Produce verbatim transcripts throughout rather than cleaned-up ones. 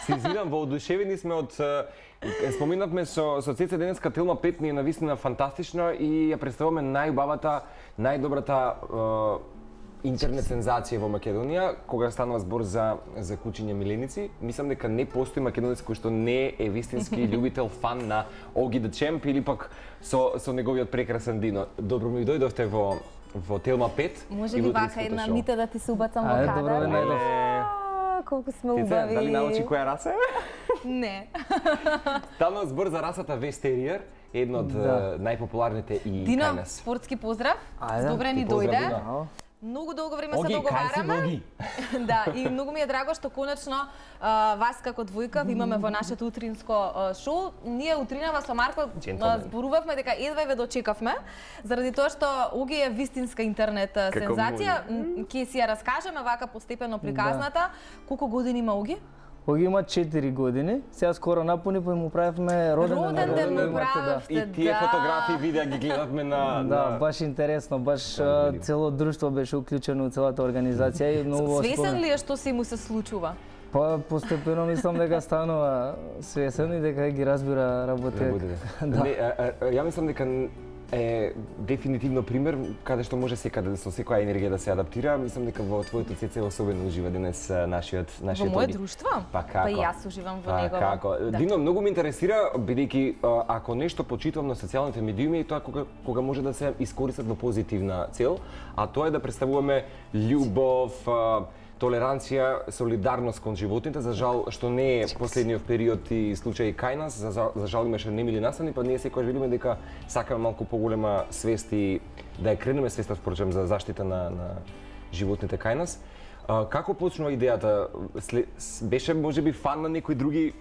Се извинам, воодушевени сме од споминавме со со Цеце денеска Телма пет ни е навистина фантастична и ја представуваме најубавата, најдобрата интернет сензација во Македонија, кога станува збор за за кучиња миленици. Мислам дека не постои македонец кој што не е вистински љубител, фан на Оги the Champ или пак со со неговиот прекрасен Дино. Добро ми дојдовте во во Телма пет. Може ли вака една мита да ти се убацам во кадар? Добро, најдов. Колку сме убави. Дали научи која раса е? Не. Станува збор за расата Вестериер, едно од најпопуларните и Дино, кај нас. спортски поздрав. Добре ни дојде. Многу долго време се договараме. Да, и многу ми е драго што конечно а, вас како двојка ви имаме во нашето утринско а, шоу. Ние утринава со Марко а, зборувавме дека едва ве дочекавме, заради тоа што Оги е вистинска интернет а, сензација. Ќе си ја раскажеме вака постепено приказната. Да. Колку години има Оги? Оги има четири години, сега скоро напуни, па му правевме роден ден. Роден ден му правевте, да. И тие фотографии, видеа ги гледавме на... Да, баш интересно, баш цело друштво беше уклучено у целата организација и многу... Свесен ли е што си му се случува? Па постепено мислам дека станува свесен и дека ги разбира работите. Да. Ја мислам дека е дефинитивно пример каде што може секаде со секоја енергија да се адаптира. Мислам дека во твоето Цеце особено ужива денес нашиот нашиот Во моје друштво? Па како? Па и јас уживам во па, него. Како? Да. Дино, многу ме интересира бидејќи ако нешто почитувам на социјалните медиуми, тоа кога кога може да се искористат во позитивна цел, а тоа е да представуваме љубов, толеранција, солидарност кон животните. За жал што не е последниот период и случај кај нас, за, за жал имаше немили настани, па ние секогаш видиме дека сакаме малку поголема свест и да ја кренеме свеста впрочем за заштита на, на животните кај нас. А, како почнува идејата? След, беше можеби фан на некои други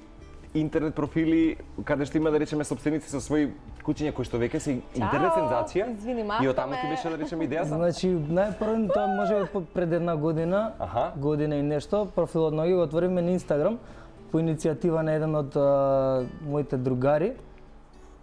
интернет профили каде што има да речеме собственици со своји кучиња кои што веќе се интернет сензација? Извини, и оттаму ти беше да речеме идејата? Значи најпрво тоа можеби пред една година, Аха. година и нешто, профилот на Оги го отворивме на Инстаграм по иницијатива на еден од а, моите другари.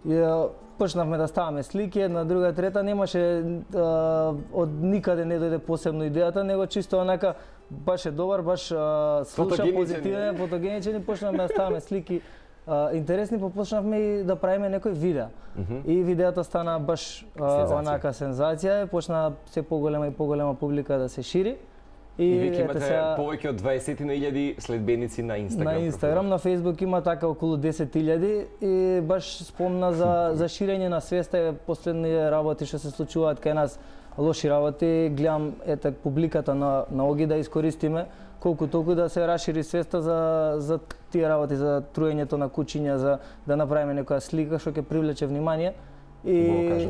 И а, почнавме да ставаме слики, една, друга, трета, немаше а, од никаде не дојде посебно идејата, него чисто онака баш е добар, баш а, слуша позитивен, фотогеничен и почнавме да ставаме слики а, интересни, па почнавме и да правиме некои видеа. Mm -hmm. И видеата стана баш а, сензација. Онака сензација, почна се поголема и поголема публика да се шири. И, и веќе имате сега... повеќе од дваесет илјади следбеници на Инстаграм. На Инстаграм, на Фејсбук има така околу десет илјади и баш спомна за за ширење на свеста, последни работи што се случуваат кај нас, лоши работи, гледам ете публиката на на Оги да искористиме колку толку да се расшири свеста за за тие работи, за труењето на кучиња, за да направиме некоја слика што ќе привлече внимание и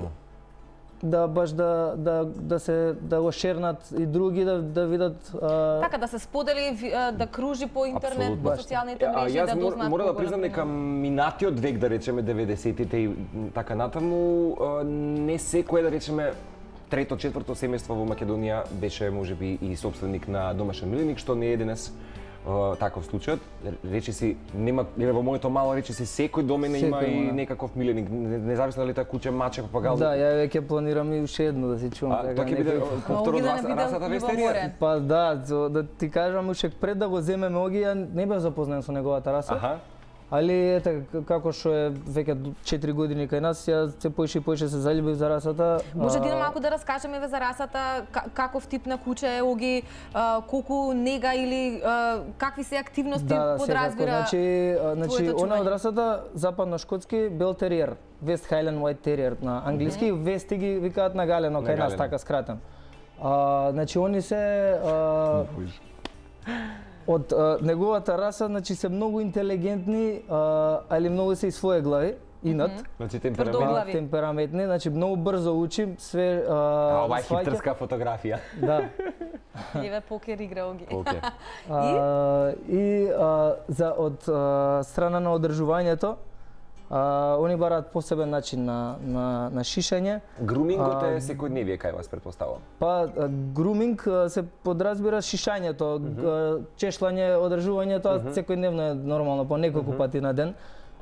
да баш да да да се да го шернат и други да да видат а... така да се сподели, да кружи по интернет, по социјалните мрежи, а, да дознаат. Јас мора да признам дека минатиот век, да речеме деветдесетите и така натаму, не секој, да речеме, трето, четврто семејство во Македонија беше можеби и собственик на домашен миленик, што не е денес uh, таков случај. Речиси нема, во моето мало речиси секој домене има и некаков миленик, независно дали тоа куче, маче, папагал. Да, ја веќе планирам и уште едно да си чувам така. Тоа ќе биде повтор од расата Вестериер? Па да, да ти кажам уште пред да го земеме Оги, ја не бев запознаен со неговата раса. Аха. Али ете како што е веќе четири години кај нас, ја се поише и поише се заљубив за расата. Може Дино малку да раскажеме за расата, каков тип на куче е Оги, колку нега или какви се активности да, подразбира. Значи, значи она од расата западно-шкотски Бел териер, Вест Хајлен Уајт териер на англиски, mm -hmm. Вести ги викаат на галено кај нас така скратен. А, значи они се а, од а, неговата раса, значи се многу интелигентни, а, али многу се и своје глави, инат. Mm -hmm. Значи темперамент. Темпераментни, значи многу брзо учим, све а, а ова е хиптерска фотографија. Да. Еве покер игра Оги. Покер. И, и а, за од а, страна на одржувањето, А, они бараат посебен начин на, на, на шишање. Грумингот е секојдневие кај вас, предпоставам? Па, груминг се подразбира шишањето, mm -hmm. чешлање, одржување, тоа mm -hmm. секојдневно е нормално, по неколку mm -hmm. пати на ден.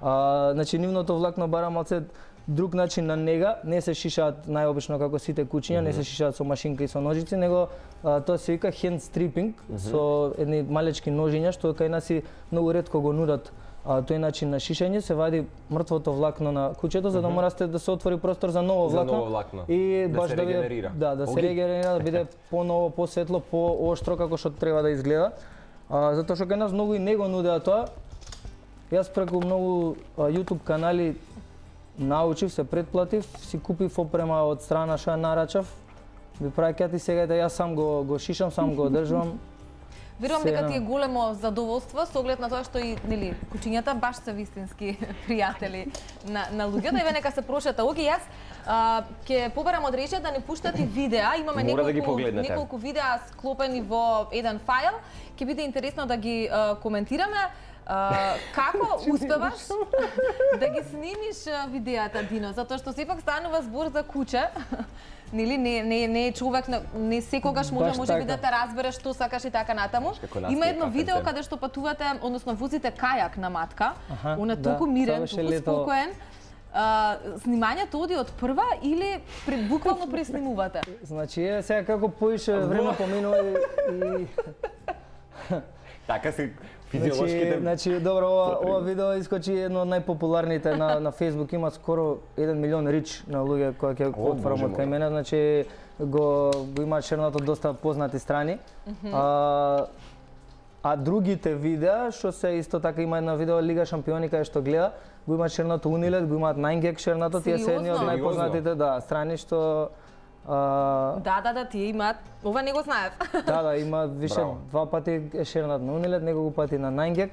А, значи, нивното влакно бара малце друг начин на нега, не се шишаат најобично како сите кучиња, mm -hmm. не се шишаат со машинка и со ножици, него а, тоа се вика hand stripping, mm -hmm. со едни малечки ножиња што кај нас и многу ретко го нудат. А, тој начин на шишење се вади мртвото влакно на кучето, за да морате да се отвори простор за ново влакно, за ново влакно. И да баш се да биде, регенерира. Да, да се регенерира, да биде поново, посветло, пооштро како што треба да изгледа. А, затоа што кај нас многу и не го нудеа тоа. Јас преку многу а, YouTube канали научив, се предплатив, си купив опрема од страна што ја нарачав. Ви праќаат и сега да јас сам го го шишам, сам го одржувам. Верувам дека ти е големо задоволство со оглед на тоа што и нели кучињата баш се вистински пријатели на на луѓето. Еве нека се прошета. Оги јас а, ќе побарам од Режија да не пуштате видеа. Имаме неколку да неколку видеа склопени во еден фајл. Ќе биде интересно да ги а, коментираме. Uh, како успеваш да ги снимиш видеата, Дино? Затоа што сепак станува збор за куче. Нели не не не е човек, не секогаш може може би да те разбереш што сакаш и така натаму. Има едно видео каде што патувате, односно возите кајак на матка. Он е толку мирен, толку спокоен. Uh, снимањето оди од прва или при, буквално преснимувате? Значи е сега како поише време поминува и, и... така се физиолошките. Значи, значи добро, ова, ова видео искочи едно од најпопуларните на на Facebook, има скоро еден милион рич на луѓе кои ќе отфрам од кај мене, значи го го има шернато доста познати страни. Mm -hmm. А а другите видеа што се исто така има една видео Лига шампиони кај што гледа, го има шернато Унилет, го имаат Nine Gag шернато, тие се едни од најпознатите, да, страни што Uh, да, да, да, тие имаат. Ова не го знаев. Да, да, има више Браво. Два пати е шернат на Унилет, неколку пати на Nine Gag.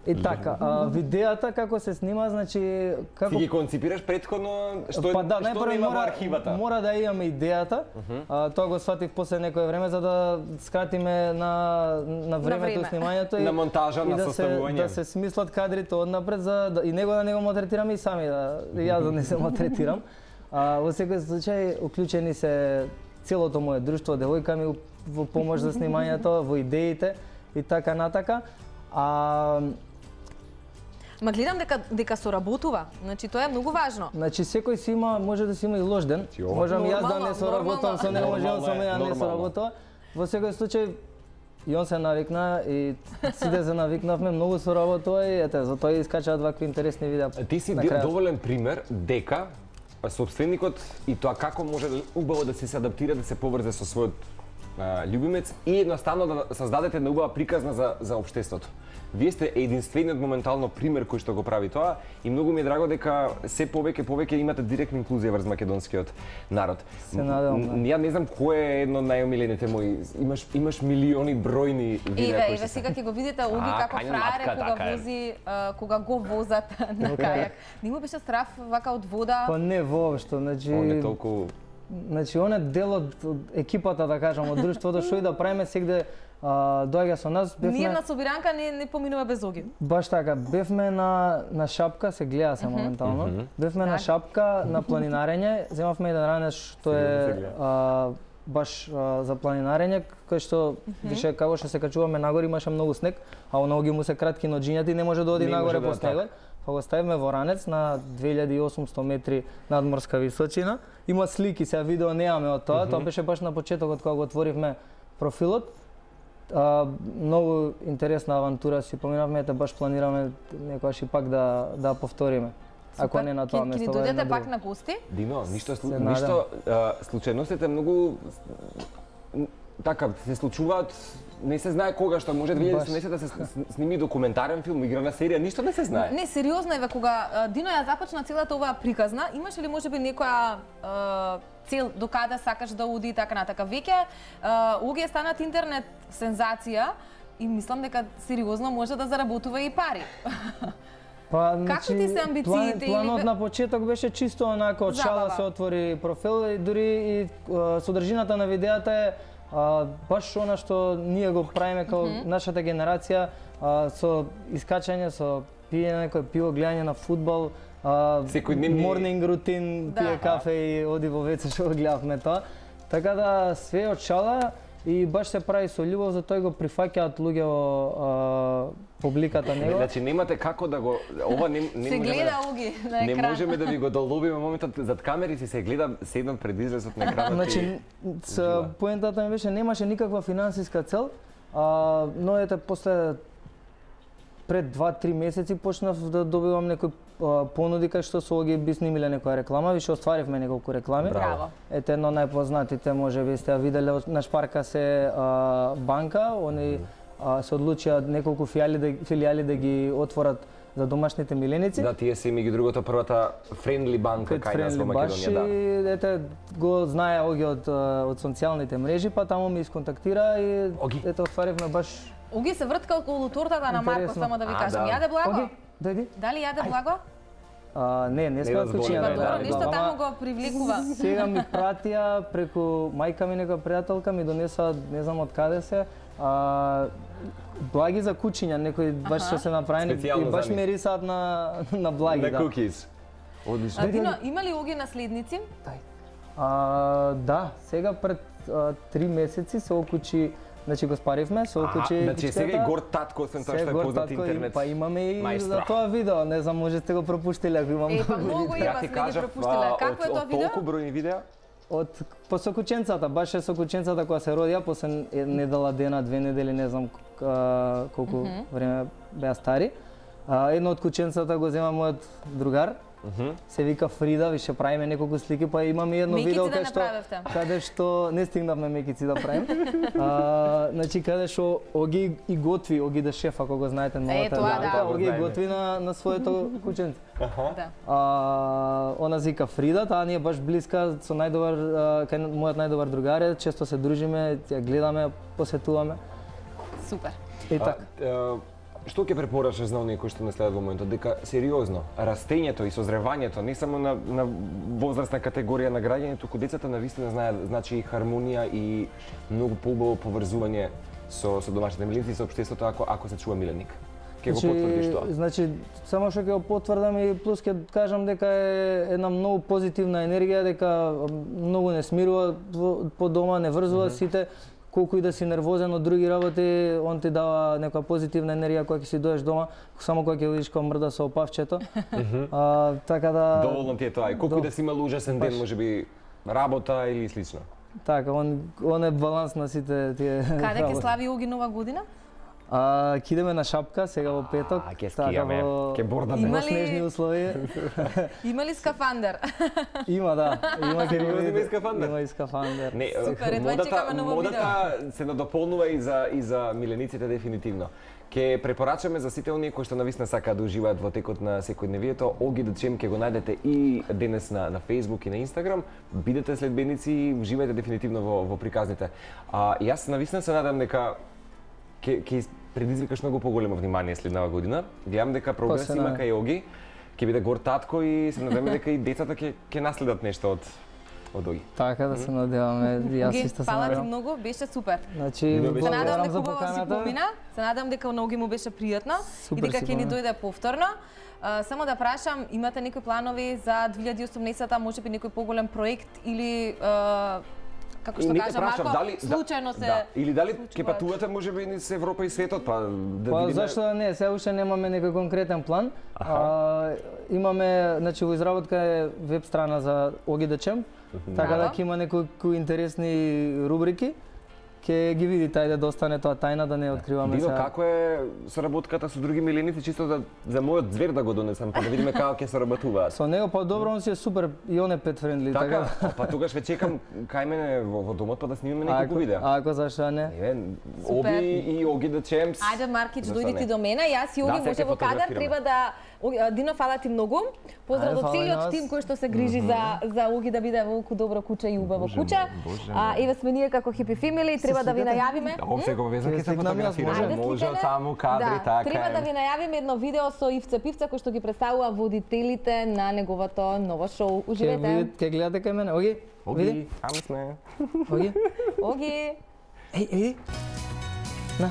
И така, а, видеата како се снима, значи како Ти ги конципираш претходно што па, да, што има во архивата. Мора да имаме идејата. Uh -huh. а, тоа го сватив после некое време за да скратиме на на времето на време. Снимањето и на монтажа, на да составување. Се, да се смислат кадрите однапред за да, и него да него мотретираме и сами да и јас да не се мотретирам. А, во секој случај, уклучени се целото моје друштво, девојка ми во помош за снимањето, во идеите и така натака. А... Ма гледам дека дека соработува. Значи тоа е многу важно. Значи секој си има, може да си има и лош ден. Можам јас да не соработам со него, може со мене да не соработува. Во секој случај и он се навикна и сите се навикнавме, многу соработува и ете, затоа искачаат вакви интересни видеа. Ти си доволен пример дека сопственикот и тоа како може убаво да се адаптира, да се поврзе со својот а, љубимец и едноставно да создадете една убава приказна за за општеството. Вие сте единствениот моментално пример кој што го прави тоа и многу ми е драго дека се повеќе повеќе имате директна инклузија врз македонскиот народ. Се надевам. Ја не знам кој е едно од најомилените мои. Имаш имаш милиони бројни видеа кои се. Еве сега ќе го видите Оги како фраер кога вози кога го возат на кајак. Не му беше страф вака од вода? Па не воопшто, значи он е толку Значи он е дел од екипата, да кажам, од друштвото, што и да правиме сегде доаѓа со нас. Бевме... Ние на собиранка не не поминува без Оги. Баш така, бевме на на шапка, се гледа се моментално. Mm -hmm. Бевме на шапка на планинарење, земавме еден ранец што е а, баш а, за планинарење, кој што више како што се качуваме нагоре имаше многу снег, а на Оги му се кратки ноџињата и не може да оди нагоре по снегот. Па го ставиме во ранец на две илјади и осумсто метри надморска височина. Има слики, сега видео немаме од тоа, mm -hmm. Тоа беше баш на почетокот кога го отворивме профилот. А, многу интересна авантура си поминавме, ете баш планираме некогаш и пак да да повториме. Ако не на тоа место. Ќе ни дојдете пак на гости? Дино, ништо слу... ништо а, случајностите многу така се случуваат. Не се знае кога што може две илјади и седумнаесета да се сними документарен филм, играна серија, ништо не се знае. Не, сериозно еве кога Дино ја започна целата оваа приказна, имаше ли можеби некоја е, цел до каде сакаш да оди и така натака. Веќе Оги е станат интернет сензација и мислам дека сериозно може да заработува и пари. Па, како ти се амбициите? План, планот или... на почеток беше чисто онака од шала се отвори профил и дури и содржината на видеата е А, баш она што ние го правиме како mm -hmm. нашата генерација, а, со искачање, со пиење некој пиво, гледање на фудбал, морнинг рутин, да. Пие кафе и оди во веце што го гледавме тоа. Така да све од шала и баш се прави со љубов, затоа го прифаќаат луѓе во публиката него. Значи немате како да го ова не не се гледа Оги на екран. Не можеме да ви го доловиме моментот зад камери си се гледа седам пред изразот на екранот. Значи с поентата ми беше немаше никаква финансиска цел, а но ете после пред два-три месеци почнав да добивам некои понуди кај што со Оги би снимиле некоја реклама, више остваривме неколку реклами. Браво. Ете едно најпознатите можеби сте ја виделе на Шпарка се а, банка, они а, се одлучија неколку филијали да, филијали да ги отворат за домашните миленици. Да, тие се меѓу другото првата френдли банка кај нас во Македонија, да. И ете го знае Оги од од социјалните мрежи, па таму ми исконтактира и Оги. ете отваривме баш. Оги се вртка околу тортата на Марко, само да ви кажам. да. Јаде благо? Оги, дојди. Дали јаде благо? А, не, не сме од куќина. Па добро, ништо таму го привлекува. Сега ми пратија преку мајка ми нека пријателка ми донесоа не знам од каде се, а, благи за кучиња, некои баш што се направени и баш мирисаат на на благи, на да. кукис. Одлично. Дино, има ли Оги наследници? А, да, сега пред а, три месеци се окучи. Значи го спаривме, се окучи. Значи сега и горд татко, освен тоа што е познат интернет. Па имаме и за тоа видео, не знам може сте го пропуштиле ако имам. Е, па многу има сме ги пропуштиле. Како е тоа видео? Толку бројни видеа? Од по сокученцата, баш е сокученцата која се родија после недела дена, две недели, не знам колку mm -hmm. време беа стари. А, едно од кученцата го зема мојот другар. Mm -hmm. Се вика Фрида, више правиме неколку слики, па имаме едно мекици видео да каде што каде што не стигнавме мекици да правим. а, значи каде што Оги и готви, Оги да шеф, ако го знаете новата. Е, тоа да. Оги готви на на своето кученце. Аха. Да. А, она се вика Фрида, таа ни е баш блиска со најдобар кај мојот најдобар другар е, често се дружиме, ја гледаме, посетуваме. Супер. И така. Што ќе препорачаш на оние кои што не следат во моментот, дека сериозно растењето и созревањето не само на на возрастна категорија на граѓање, туку децата навистина знаат значи хармонија и многу поубаво поврзување со со домашните миленици и со општеството ако ако се чува миленик. Ќе го потврдиш тоа? Значи само што ќе го потврдам и плюс ќе кажам дека е една многу позитивна енергија, дека многу не смирува по дома, не врзува mm -hmm. сите. Колку и да си нервозен од други работи, он ти дава некоја позитивна енергија кога ќе си доеш дома, само кога ќе видиш кога мрда со опавчето. а, така да доволно ти е тоа. И колку До... и да си имал ужасен ден, можеби работа или слично. Така, он он е баланс на сите тие. Каде ќе слави Оги нова година? А, ќе идеме на Шапка сега во петок. А, ќе скијаме, ќе бордаме. Има снежни услови. Има ли скафандер? Има, да. Има ќе има и скафандер. Има и скафандер. Не, супер, модата, модата се надополнува и за и за милениците дефинитивно. Ке препорачаме за сите оние кои што навистина сакаат да уживаат во текот на секојдневието, Оги да чем ќе го најдете и денес на на Facebook и на Instagram. Бидете следбеници и уживајте дефинитивно во во приказните. А јас навистина се надам дека ќе ќе предизвикаш многу поголемо внимание следнава година. Гледам дека прогрес има кај Оги, ќе биде горд татко и се надеваме дека и децата ќе ќе наследат нешто од од Оги. Така да се надеваме. Јас исто се надевам. Фала ти многу, беше супер. Значи, се надевам дека убаво си помина, се надевам дека на Оги му беше пријатно и дека ќе ни дојде повторно. Uh, само да прашам, имате некои планови за две илјади и осумнаесета, можеби некој поголем проект или uh, како што кажа Марко, дали, случајно се да, или дали ќе патувате можеби низ Европа и светот, па да па, видиме. Зашто да не, се уште немаме некој конкретен план. А, имаме, значи во изработка е веб страна за Оги да чем, така да ќе има некои интересни рубрики. Ќе ги видите, ајде да остане тоа тајна, да не откриваме сега. Дино, како е соработката со други миленици, чисто за, за мојот звер да го донесам, па да видиме како ќе соработуваат. Со него, па добро, он си е супер и он е pet friendly. Така, така. Па тогаш ве чекам кај мене во, во домот, па да снимиме неколку видеа. Ако зашто не? Не, Оги и Оги да чемс. Ајде, Маркич, дојди ти до мене, јас и Оги да, може во кадар, треба да... Дино, фала ти многу. Поздрав до целиот тим кој што се грижи mm -hmm. за за Оги да биде волку добро куче и убаво куче. А еве сме ние како Happy Family, треба да ви најавиме. Ова се го веза ќе се фотографираме. Може само кадри така. Треба да ви најавиме едно видео со Ивце Пивца кој што ги представува водителите на неговото ново шоу. Уживете. Ке гледате кај мене. Оги. Оги, ами сме. Оги. Оги. Еј, еј. На.